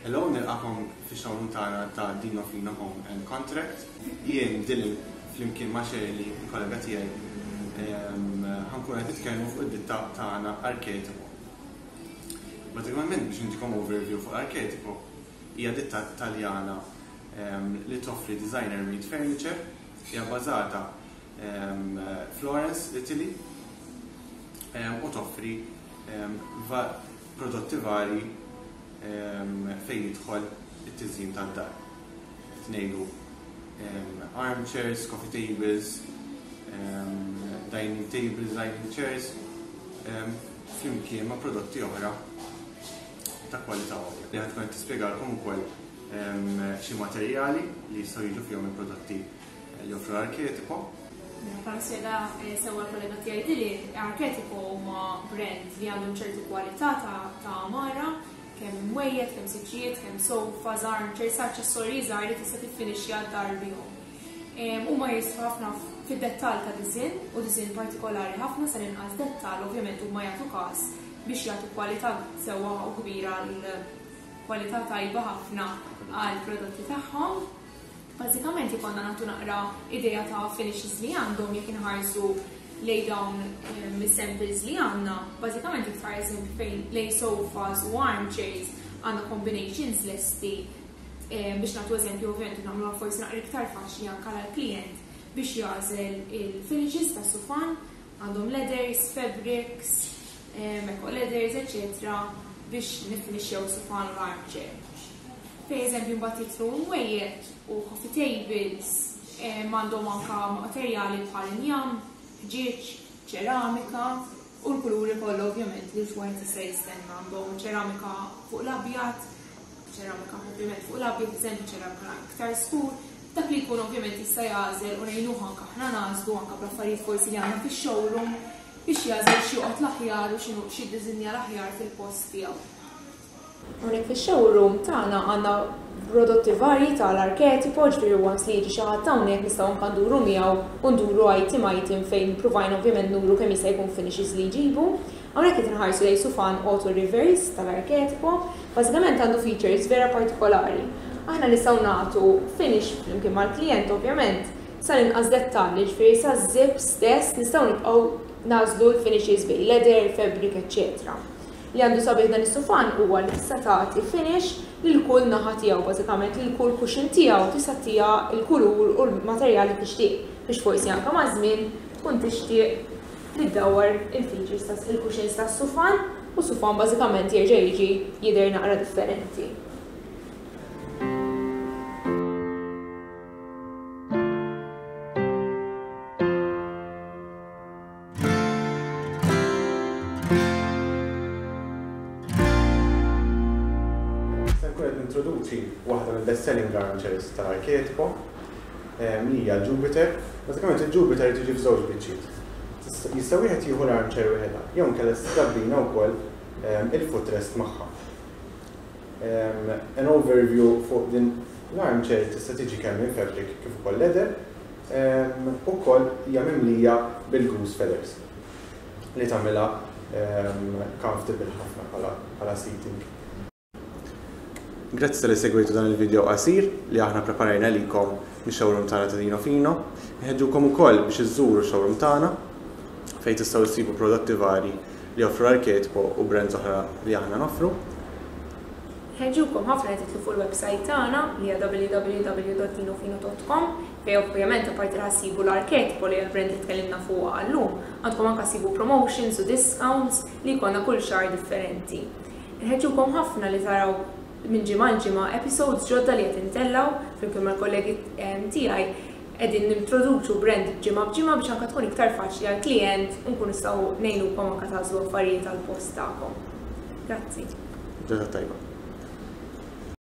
Hello, nilqakom fix-showroom tagħna ta' Dino Fino Home and Contract. Jien Dylan flimkien ma' Shirley, il-kollega tiegħi, ħankun qed nitkellmu fuq id-ditta tagħna Archetipo. Bażikament biex intikom overview fuq Archetipo, hija ditta Taljana li toffri designer made furniture, hija bbażata Florence, Italy, u toffri prodotti vari fejn jidħol it-tiżjin tad-dar. Qed ngħidu armchairs, coffee tables, dining tables, dining chairs, flimkien ma' prodotti oħra ta' kwalità għolja. Li ħad tkun qed tispjegalkom ukoll xi materjali li jistgħu jiġu fihom il-prodotti li joffru Arketipo. Mela, bħala spjega eh, sewwa l-kollega tiegħi Dili, Arketipo huma brand li għandhom ċertu kwalità ta' għamara, kemm mwejjed, kemm siġġijiet, kemm sofas, armchairs, aċċessorji żgħar li tista' tiffinixxja d-dar bihom. Huma jisfu ħafna fid-dettall ta' diżinn u diżinn partikolari ħafna sa inqas dettall ovvjament huma jagħtu każ biex jagħtu kwalità sewwa u kbira għal kwalità tajba ħafna għal prodotti tagħhom. Bażikament ikollna nagħtu naqra idea ta' finishes li għandhom jekk inħarsu lejn dawn ehm, is-samples li għandna, bażikament jekk tħares fejn lejn sofas u armchairs għandna combinations lesti ehm, biex nagħtu eżempju ovvjament nagħmluha forsi naqra iktar faċli anke għall-klijent biex jagħżel il-finishes ta' sufan għandhom leathers, fabrics, ehm, eco leathers, eccetera biex nifinixxew sufan u armchair. Per eżempju mbagħad jidħlu mwejjed u coffee tables għandhom anka materjali bħal injam, ħġieġ, ċeramika u l-kuluri kollha ovvjament li wieħed jista' jistenna għandhom ċeramika fuq l-abjad, ċeramika ovvjament fuq l-abjad, eżempju ċeramika iktar skur, dak li jkun ovvjament jista' jagħżel u ngħinuh anke aħna nagħżlu anke bl-affarijiet forsi li għandna fix-showroom biex jagħżel x'joqgħod l-aħjar u x'inhu x'jiddiżinja l-aħjar fil-post tiegħu. Hawnhekk fix-showroom tagħna għandna prodotti varji tal-Arketipo, ġifieri once li jiġi xi ħadd hawnhekk nistgħu anke nduru miegħu u nduru item item fejn pruvajna ovvjament nuru kemm jista' jkun finishes li jġibu. Hawnhekk qed inħarsu lejn sufan auto reverse tal-Arketipo. Bażikament għandu features vera partikolari. Aħna nistgħu nagħtu finish flimkien mal-klijent ovvjament sal-inqas dettall, jiġifieri saż-zip stess nistgħu nibqgħu nagħżlu l-finishes bejn leather, fabric, eċċetera. Li għandu sabiħ dan is-sufan huwa li tista' tagħti finish lil kull naħa tiegħu, bażikament lil kull cushion tiegħu tista' ttiha l-kulur u l-materjal li tixtieq biex forsi anke maż-żmien tkun tixtieq li ddawwar il-features ta' il-cushions tas-sufan u s-sufan bażikament jerġa' jiġi jidher naqra differenti. Se nkun qed nintroduċi waħda mill-best selling armchairs tal-Arketipo li hija l-Jupiter. Bażikament il-Jupiter tiġi f'żewġ biċċiet. Jista' wieħed jieħu l-armchair wieħedha, jew inkella tista' tabbina wkoll il-footrest magħha. An overview fuq din l-armchair tista' tiġi kemm in fabric kif ukoll leather. Ukoll hija mimlija bil-goose feathers li tagħmilha comfortable ħafna bħala seating. Grazzi talli segwejtu dan il-video qasir li aħna preparajna għalikom mix-showroom tagħna ta' Dino Fino. Inħeġġukom ukoll biex iżżuru x-showroom tagħna fejn tistgħu ssibu prodotti vari li joffru Arketipo u brands oħra li aħna noffru. Nħeġġukom ħafna li tidħlu fuq il-website tagħna li hija www.dinofino.com fejn ovvjament apparti li ħa ssibu l-Arketipo li hija l-brand li tkellimna fuqha llum, għandkom anke ssibu promotions u discounts li jkollna kull xahar differenti. Nħeġġukom ħafna li taraw minn ġimgħa għal ġimgħa episodes ġodda li qed intellgħu flimkien mal-kollegi tiegħi qegħdin nintroduċu brand ġimgħa b'ġimgħa biex anke tkun iktar faċli għall-klijent u nkunu nistgħu ngħinukom anke tagħżlu affarijiet għall-post tagħkom. Grazzi. Ġurnata tajba.